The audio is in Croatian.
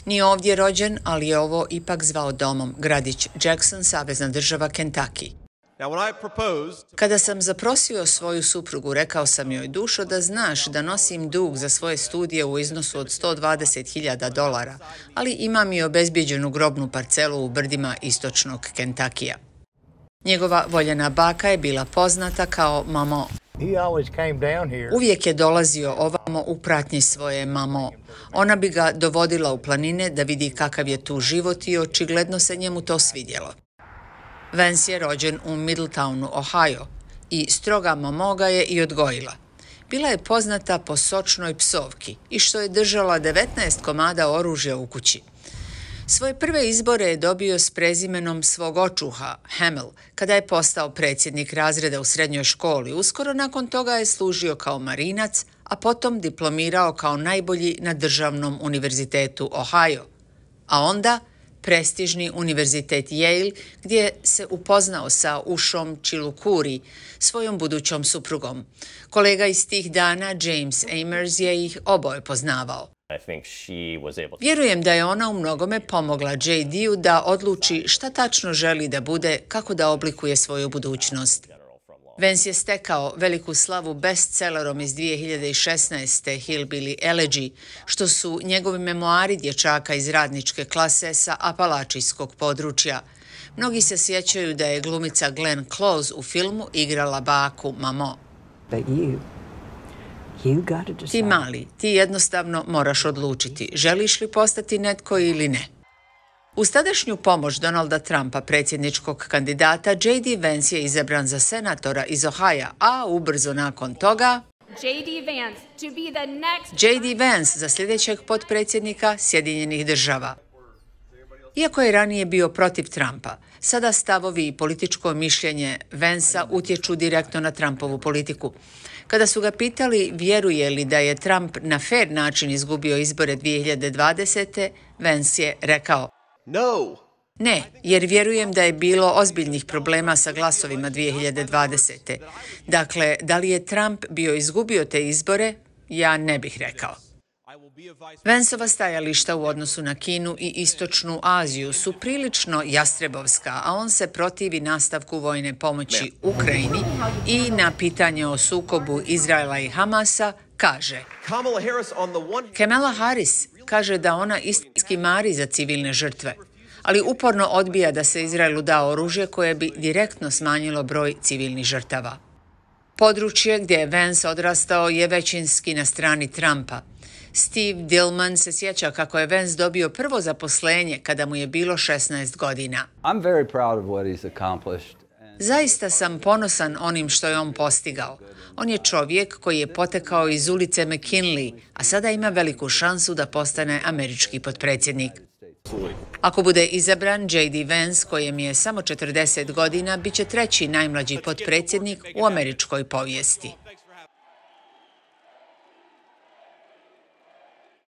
Nije ovdje rođen, ali je ovo ipak zvao domom, gradić Jackson, savezna država Kentucky. Kada sam zaprosio svoju suprugu, rekao sam joj: dušo, da znaš da nosim dug za svoje studije u iznosu od $120.000, ali imam i obezbijeđenu grobnu parcelu u brdima istočnog Kentakija. Njegova voljena baka je bila poznata kao Mamo. Uvijek je dolazio ovamo u pratnji svoje Mamo. Ona bi ga dovodila u planine da vidi kakav je tu život i očigledno se njemu to svidjelo. Vance je rođen u Middletownu, Ohio, i stroga Mamo ga je i odgojila. Bila je poznata po sočnoj psovki i što je držala 19 komada oružja u kući. Svoje prve izbore je dobio s prezimenom svog očuha, Hamel, kada je postao predsjednik razreda u srednjoj školi. Uskoro nakon toga je služio kao marinac, a potom diplomirao kao najbolji na državnom univerzitetu Ohio. A onda prestižni univerzitet Yale, gdje se upoznao sa Ushom Chilukuri, svojom budućom suprugom. Kolega iz tih dana, James Amers, je ih oboje poznavao. Vjerujem da je ona u mnogome pomogla JD-u da odluči šta tačno želi da bude, kako da oblikuje svoju budućnost. Vance je stekao veliku slavu bestsellerom iz 2016. Hillbilly Elegy, što su njegovi memoari dječaka iz radničke klase sa apalačijskog područja. Mnogi se sjećaju da je glumica Glenn Close u filmu igrala baku Mamo. Ti mali, ti jednostavno moraš odlučiti, želiš li postati netko ili ne. Uz tadašnju pomoć Donalda Trumpa, predsjedničkog kandidata, J.D. Vance je izabran za senatora iz Ohaja, a ubrzo nakon toga J.D. Vance za sljedećeg potpredsjednika Sjedinjenih država. Iako je ranije bio protiv Trumpa, sada stavovi i političko mišljenje Vancea utječu direktno na Trumpovu politiku. Kada su ga pitali vjeruje li da je Trump na fair način izgubio izbore 2020. Vance je rekao: Ne, jer vjerujem da je bilo ozbiljnih problema sa glasovima 2020. Dakle, da li je Trump bio izgubio te izbore, ja ne bih rekao. Vanceova stajališta u odnosu na Kinu i Istočnu Aziju su prilično jastrebovska, a on se protivi nastavku vojne pomoći Ukrajini i na pitanje o sukobu Izraela i Hamasa kaže: Kamala Harris kaže da ona istinski mari za civilne žrtve, ali uporno odbija da se Izraelu da oružje koje bi direktno smanjilo broj civilnih žrtava. Područje gdje je Vance odrastao je većinski na strani Trumpa. Steve Dillman se sjeća kako je Vance dobio prvo zaposlenje kada mu je bilo 16 godina. Zaista sam ponosan onim što je on postigao. On je čovjek koji je potekao iz ulice McKinley, a sada ima veliku šansu da postane američki potpredsjednik. Ako bude izabran, J.D. Vance, kojem je samo 40 godina, bit će treći najmlađi potpredsjednik u američkoj povijesti.